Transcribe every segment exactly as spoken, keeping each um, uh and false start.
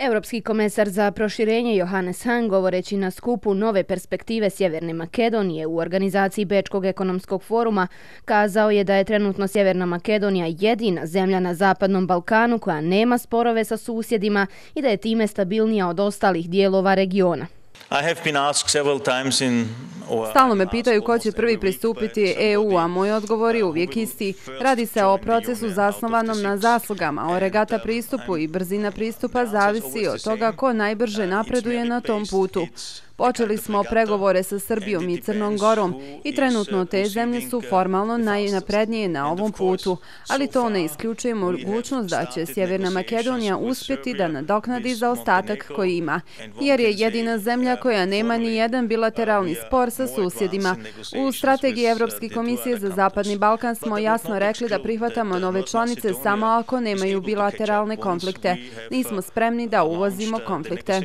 Europski komesar za proširenje Johannes Hahn, govoreći na skupu Nove perspektive Sjeverne Makedonije u organizaciji Bečkog ekonomskog foruma, kazao je da je trenutno Sjeverna Makedonija jedina zemlja na Zapadnom Balkanu koja nema sporove sa susjedima i da je time stabilnija od ostalih dijelova regiona. Stalno me pitaju ko će prvi pristupiti E U, a moj odgovor je uvijek isti. Radi se o procesu zasnovanom na zaslugama, o regata pristupu i brzina pristupa zavisi od toga ko najbrže napreduje na tom putu. Počeli smo pregovore sa Srbijom i Crnom Gorom i trenutno te zemlje su formalno najnaprednije na ovom putu, ali to ne isključuje mogućnost da će Sjeverna Makedonija uspjeti da nadoknadi zaostatak koji ima, jer je jedina zemlja koja nema ni jedan bilateralni spor sa susjedima. U strategiji Evropske komisije za Zapadni Balkan smo jasno rekli da prihvatamo nove članice samo ako nemaju bilateralne konflikte. Nismo spremni da uvozimo konflikte.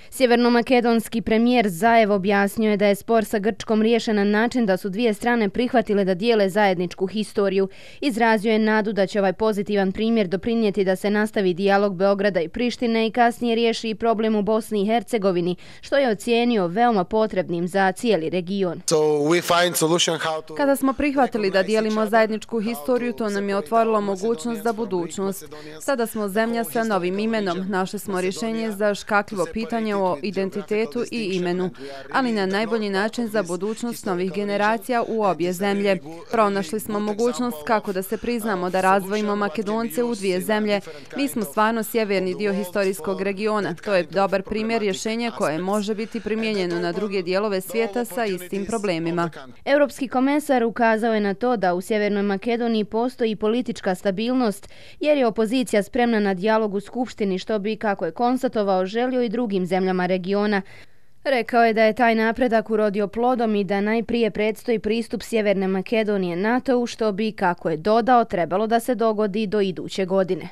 Sjevernomakedonski premijer Zaev objasnio je da je spor sa Grčkom riješen na način da su dvije strane prihvatile da dijele zajedničku historiju. Izrazio je nadu da će ovaj pozitivan primjer doprinijeti da se nastavi dijalog Beograda i Prištine i kasnije riješi i problem u Bosni i Hercegovini, što je ocijenio veoma potrebnim za cijeli region. Kada smo prihvatili da dijelimo zajedničku historiju, to nam je otvorilo mogućnost za budućnost. Sada smo zemlja sa novim imenom. Našli smo rješenje za škakljivo pitanje o identitetu i imenu, ali na najbolji način za budućnost novih generacija u obje zemlje. Pronašli smo mogućnost kako da se priznamo da razdvojimo Makedonce u dvije zemlje. Mi smo stvarno sjeverni dio historijskog regiona. To je dobar primjer rješenja koje može biti primijenjeno na druge dijelove svijeta sa istim problemima. Europski komesar ukazao je na to da u Sjevernoj Makedoniji postoji politička stabilnost, jer je opozicija spremna na dijalog u Skupštini, što bi, kako je konstatovao, želio i drugim zemljama regiona. Rekao je da je taj napredak urodio plodom i da najprije predstoji pristup Sjeverne Makedonije NATO-u, što bi, kako je dodao, trebalo da se dogodi do iduće godine.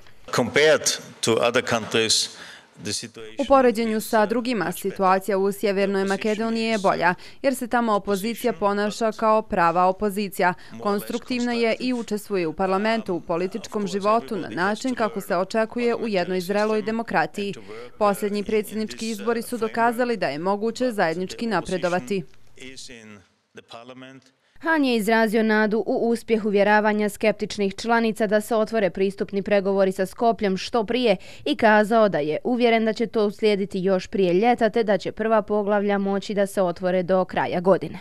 U poređenju sa drugima, situacija u Sjevernoj Makedoniji je bolja, jer se tamo opozicija ponaša kao prava opozicija. Konstruktivna je i učestvuje u parlamentu, u političkom životu na način kako se očekuje u jednoj zreloj demokratiji. Posljednji predsjednički izbori su dokazali da je moguće zajednički napredovati. Hahn je izrazio nadu u uspjeh uvjeravanja skeptičnih članica da se otvore pristupni pregovori sa Skopljem što prije i kazao da je uvjeren da će to uslijediti još prije ljeta te da će prva poglavlja moći da se otvore do kraja godine.